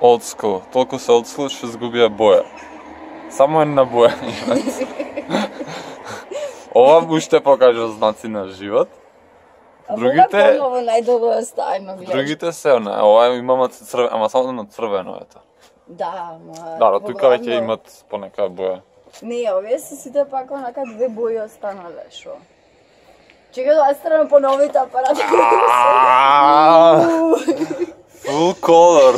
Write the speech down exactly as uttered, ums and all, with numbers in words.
old school. Толку се old school што згубија боја. Само една боја имат. Ова уште покажа знаци на живот. Другите Ова најдолу е стајно, гледаш. Другите се она, ова имаат црвено, ама само на црвено ето. Да, ма. Да, тука веќе имат понека боја. Не, овие се сите пак онака две бои останале, шо? Чекај да оставаме по новите апарати. Full color.